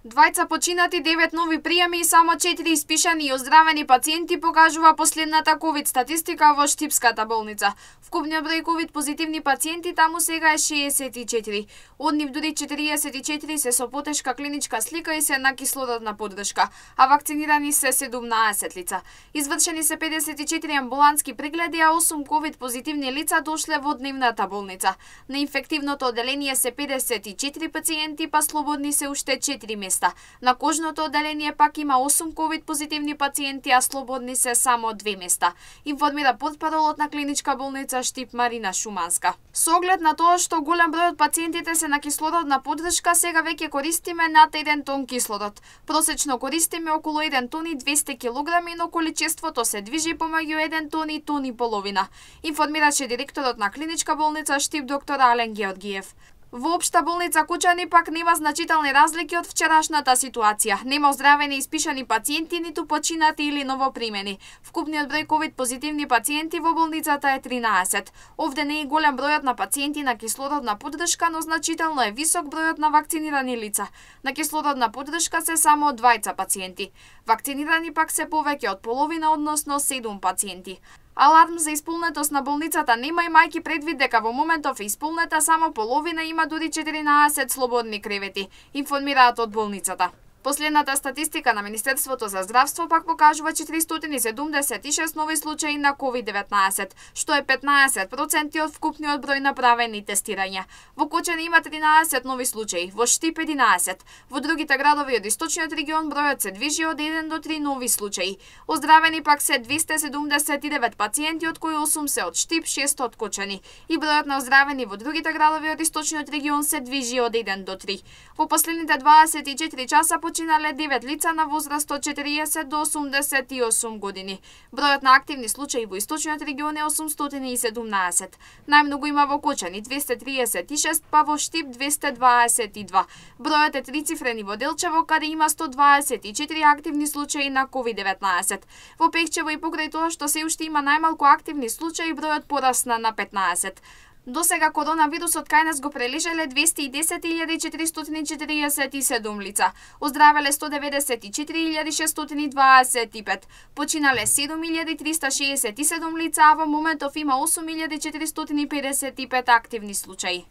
Двајца починати, 9 нови пријами и само 4 испишани и оздравени пациенти покажува последната ковид статистика во Штипската болница. Вкупниот број ковид позитивни пациенти таму сега е 64. Од нив дури 44 се со потешка клиничка слика и се на кислородна поддршка, а вакцинирани се 17 лица. Извршени се 54 амбулантски прегледи, а 8 ковид позитивни лица дошле во дневната болница. На инфективното оделение се 54 пациенти, па слободни се уште 4 места. На кожното оделение пак има 8 ковид позитивни пациенти, а слободни се само 2 места, информира портпаролот на клиничка болница Штип Марина Шуманска. Со оглед на тоа што голем број од пациентите се на кислородна поддршка, сега веќе користиме над 1 тон кислород. Просечно користиме околу 1 тон и 200 килограми, но количеството се движи помеѓу 1 тон и тон и половина, информираше директорот на клиничка болница Штип доктор Ален Георгиев. Во општа болница Кучани пак нема значителни разлики од вчерашната ситуација. Нема оздравени и испишани пациенти, ниту починати или новопримени. Вкупниот број ковид позитивни пациенти во болницата е 13. Овде не е голем бројот на пациенти на кислородна поддршка, но значително е висок бројот на вакцинирани лица. На кислородна поддршка се само 2 пациенти. Вакцинирани пак се повеќе од половина, односно 7 пациенти. Аларм за исполнетост на болницата нема, имајќи предвид дека во моментов е исполнета само половина, има дури 14 слободни кревети, информираат од болницата. Последната статистика на Министерството за здравство пак покажува 476 нови случаи на COVID-19, што е 15% од вкупниот број направени тестирања. Во Кочани има 13 нови случаи, во Штип 11. Во другите градови од источниот регион бројот се движи од 1 до 3 нови случаи. Оздравени пак се 279 пациенти, од кои 8 се од Штип, 6 од Кочани. И бројот на оздравени во другите градови од источниот регион се движи од 1 до 3. Во последните 24 часа починале 9 лица на возраст од 40 до 88 години. Бројот на активни случаи во источниот регион е 817. Најмногу има во Кочани 236, па во Штип 222. Бројот е трицифрен во Делчево, каде има 124 активни случаи на COVID-19. Во Пехчево и покрај тоа што се уште има најмалку активни случаи, бројот порасна на 15. До сега коронавирусот кај нас го прележале 210.447 лица, оздравеле 194.625, починале 7.367 лица, а во моментов има 8.455 активни случаи.